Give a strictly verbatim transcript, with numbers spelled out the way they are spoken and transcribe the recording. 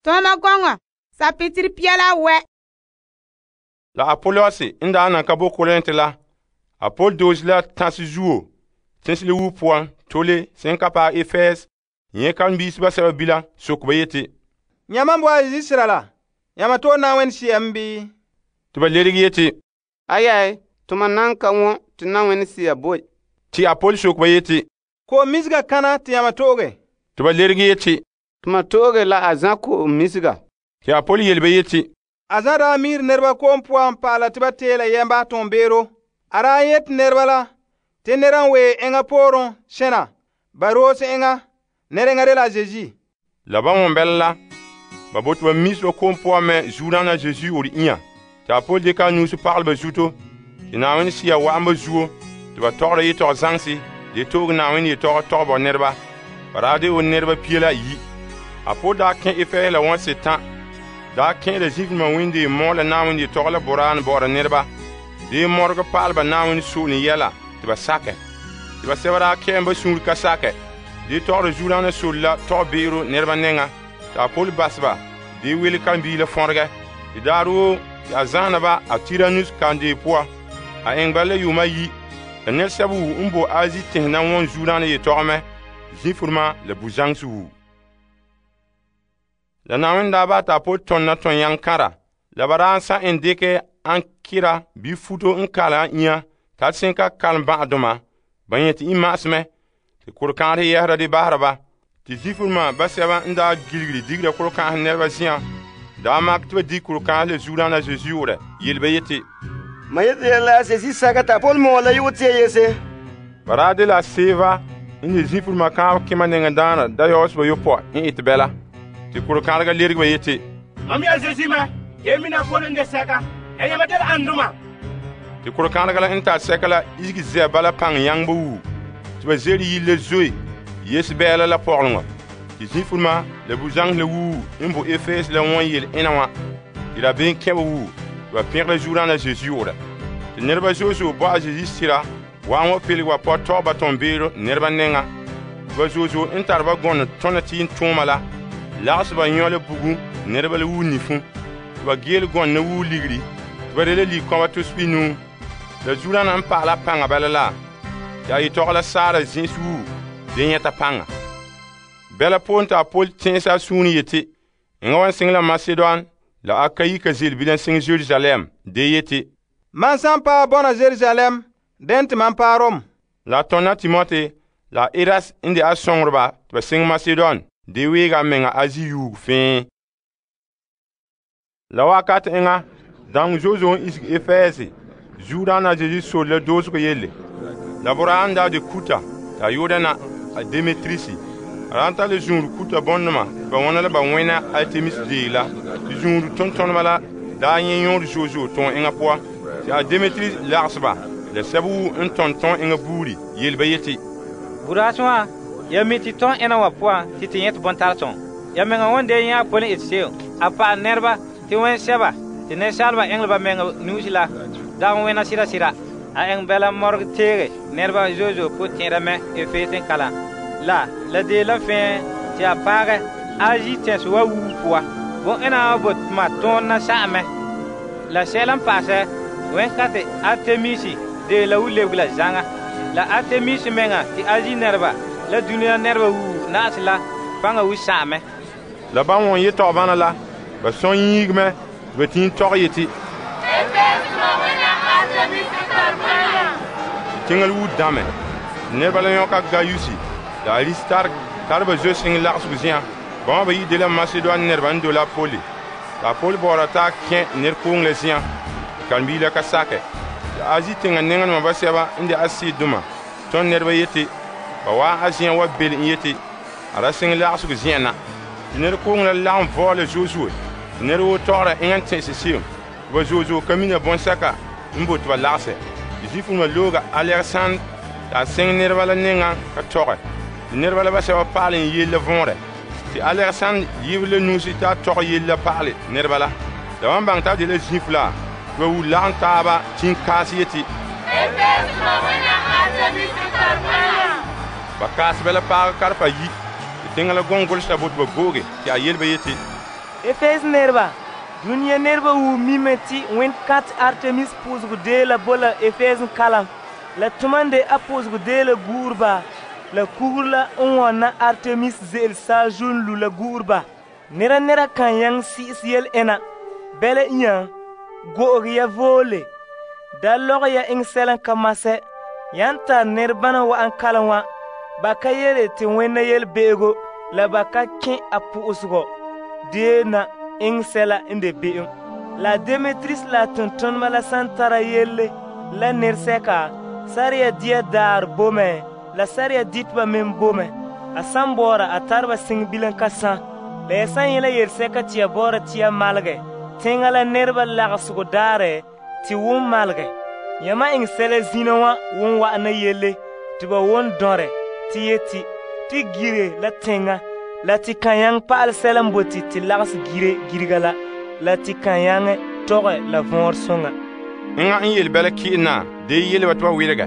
Toma gɔŋɔ sapitiri piala wɛ. La Apollos n daa nan ka bo Korint la, Apol doosi la tãse zuo tẽnsele wuo poan tole sen ka paɛ Efes yẽ karen-biisi basɛba bilam sok ba yeti, Yãmba boa Israel la, yãmba tɔɔ Na'ayenɛ Sea mɛ bii? Tɩ ba leregɛ yeti, Ayai, toma nan ka wõ tɩ Na'ayenɛ Sea boe. Tɩ Apol sok ba yeti, Ko'om misega kana tɩ yãmba tooge? Tɩ ba leregɛ yeti, Toma tooge la a zã ko'om misega. Tɩ Apol yele ba yeti, A zã daa miir nɛreba ko'om poan pa'ala tɩ ba teela yɛmba tõog-beero. A daa yete nɛreba la tɩ nɛra n wee enŋa pooren sẽna ba roose enŋa, nɛreŋa de la Zeezi. La ba wõn bɛla la, ba bote ba mis ba ko'om poan mɛ zuodaana Zeezi or inya. Tɩ Apol dɩka a nuus pagalɛ ba zuto, tɩ Na'ayenɛ Sea wa'an ba zuo, tɩ ba tɔgɔra yetɔgɔ zaŋse, de toog Na'ayenɛ yetɔgɔ tɔgɛ bo nɛreba. Ba daa de o nɛreba pia la ayi. Apol daa kẽ Efɛs la wɔn setã, daa kẽ la zifilma wẽnde mɔ la Na'ayenɛ yetɔgɔ la boraan bɔ'ɔra nɛreba, de mɔregɔ pa'al ba Na'ayenɛ so'olem yɛla tɩ ba sakɛ. Tɩ ba sɛba daa kɛɛm ba sũur ka sakɛ, de tɔgɔra zuodaana sol la tɔgɔ-be'ero nɛreba nɛŋa, tɩ Apol bas ba, de wele karen-bii la fõregɛ. Tɩ daarɛ woo tɩ a zãana ba a Tiranus kandee poa, a eŋ ba la yʋʋm ayi, la nɛresɛba wu n bo Azi tẽse na wõn zuodaana yetɔgɔ mɛ, zĩfurema la bu-zãŋse wu. La Na'ayenɛ daa ba tɩ Apol tõnda tõn-yãng-kãra, la ba daa sã en dɩkɛ Ankira bii futo n kalem a inya t'a sẽn ka kalem bã'adoma, ba yẽ tɩ imma'asmɛ, tɩ kʋr-kãadɛ yɛsera de basera ba. Tɩ zifurema basɛba n daa gilgiri digera kʋr-kãasɛ nɛreba zĩyã daa mak tɩ ba dik kʋr-kãasɛ la zuodaana Zeezi yoorɛ, yel ba yeti, Ma yete ya la Zeezi saka t'a Pol mɔɔ la yʋʋr tɩ yese. ba daa de la Seva n de zifurema kãab kẽma nɛŋadaana Dayɔseba yopɔ n ɩtɛ bɛla. Tɩ kʋr-kãadega lerg ba yeti, Mam ya Zeezi mɛ, yẽ mina Pol n de sɛka, ya yãmba de la anduma. tɩ kʋr-kãadega la n tar sɛka la isgi zɛ bala pãng yãngba wuu, tɩ ba zeri yil la zoe yes bɛɛla la pɔgleŋɔ. Tɩ zĩfurema la bu-zãŋs la wuu n bo Efes la wõn yel ẽna wã, tɩ la been kẽba wuu, tɩ ba pẽgla zuodaana Zeezi yoorɛ. Tɩ nɛreba zo'e-zo'e bo a Zeezi sɩra wa'an wa pelg wa pɔ tɔg ba tõn-beero nɛreba nɛŋa. Tɩ ba zo'e-zo'e n tar ba gɔnɔ tõna tɩɩn-tʋʋma la, lags ba yõ la bugum nɛreba la wuu nifũ, tɩ ba geel gɔnna wuu ligri, tɩ ba de la lig-kɔba tospi nuu. La zuodaana n pagla pãnga bala la, tɩ a yetɔgɔ la saara zĩis wuu de yẽta pãnga. Bɛla poon tɩ Apol tẽese a sũur yeti, yẽga wan sɩng la Masedon la Akayika zel bilam sɩng Jerusalem, de yeti, Man sã n paɛ bɔna Jerusalem, dẽn tɩ man paɛ Rom. la a tõnda Timote la Eras n de a sõngerba tɩ ba sɩng Masedon, de weega a menga Azi yuug fẽe. La wakat eŋa, dãng zo'e-zo'e n isg Efɛɛse, zuodaana Zeezi sor la doosgo yelle. La boraan daa de kuta t'a yʋʋdana a Demetrisi. A daa tar la zũur kuta bõndema tɩ ba wõna la ba wẽna Artemis deeg la, tɩ zũur tõn-tõnema la daa yẽ yõor zo'e-zo'e tõog eŋa poa. Tɩ a Demetris lagsba la sɛb wuu n tõnd tõog eŋa buuri, yel ba yeti, Buraas wã, ya mi tɩ tõn ẽna wã poan tɩ tɩ yẽ tɩ bõn-tar-tõng. Ya meŋa wẽn de yẽ a Pol n ɩt se'em, a pa'al nɛreba tɩ wẽn sɛba tɩ nensaalba ɛŋleba menga nuus la dag wẽna sɩda-sɩda. A ɛŋ bɛla mɔreg teege nɛreba zo'e-zo'e pʋ-tẽeda mɛ Efes n kalam. La la dee la fẽe tɩ a paagɛ Azi tẽs wa wuu pʋa. Bõn-ẽna wã bot tɩ ma tõog na sa'amɛ. La sɛla n paasɛ wẽn-kãte Artemisi dee la wu-lebg la zãŋa. La Artemisi menga tɩ Azi nɛreba la dũniyã nɛreba wuu na'asɛ la pãnga wu sa'amɛ. la ba wõn yetɔg bãna la, ba sõn yĩigmɛ tɩ ba tĩin tɔg yeti, tẽngl wuu dãmɛ. Nɛreba la yõka Gayusi la Aristark tar ba zoe sɩng lagsg zĩyã. Bãmba ba yi de la Masedon nɛreba n dole a Pole. La a Pol baoora t'a kẽ ner-koong la zĩyã, tɩ karen-bii la ka sakɛ. Tɩ Azi tẽngã nengdmã basɛba n de Asidoma tõnd nɛreba yeti, ba waa a zĩyã wa bel n yeti, a ra sɩng lagsg zĩyã na. Tɩ ner-koong la lagem vaoole zo'e-zo'e, tɩ ned woo tɔgra eŋa n tẽese se'em, tɩ ba zo'e-zo'e ka mina bõn-sɛka n bo tɩ ba lagsɛ. Tɩ zifuremã looga Alegsãnd t'a sẽng nɛreba la nengã ka tɔgɛ, tɩ nɛreba la basɛba paal n yell la võorɛ. Tɩ Alegsãnd yɩb la nuusi t'a tɔg yell la paale nɛreba la. La wan bãng t'a de la zĩf la, tɩ ba wu lagem taaba tĩn kaas yeti, ba kaas bɛ la paagã karpa yi, tɩ tẽngã la gõng golsda bo tɩ ba googe, tɩ a yel ba yeti, Efes nerba, dunia nerba wu mime ti wẽn-kat Artemis pʋʋsegɔ deela bo la Efes kalam. La tumande a pʋʋsegɔ deela guurba la kugr la n wãna Artemis ze'ele saazuo n lu la guurba. Nera nera kan yaŋ si'is yele ena. Bɛla inya, go'oge ya voole. Da lɔgɛ ya eŋɛ sɛla n ka masɛ. Yan tar nɛrebana wa'an kalam wa, ba ka yele te wẽnna yelebe'ego la ba ka kẽ a pʋ'ʋsegɔ deena eŋɛ sɛla n de be'em. La Demetrius la tontoneba la san tara yelle la nɛresɛka, sariya dia daar bo mɛ, la sariya diteba meŋ bo mɛ. A san bɔɔra a tare ba siŋe bilam ka sã. La ya san yẽ la yelsɛka te ya bɔɔra te ya malgɛ, teŋa la nɛreba lagesego daarɛ te won malgɛ. Yãmã eŋɛ sɛla zina wã won wa'ana yelle te ba won dɔrɛ te yeti te gire la teŋa, la te kan yaŋɛ pa'alɛ sɛla n bote te lagese gire girega la, la te kan yaŋɛ tɔgɛ la vɔɔrɛ soŋa. Enŋa n yele bɛla ki'ina dee yele ba te ba welege.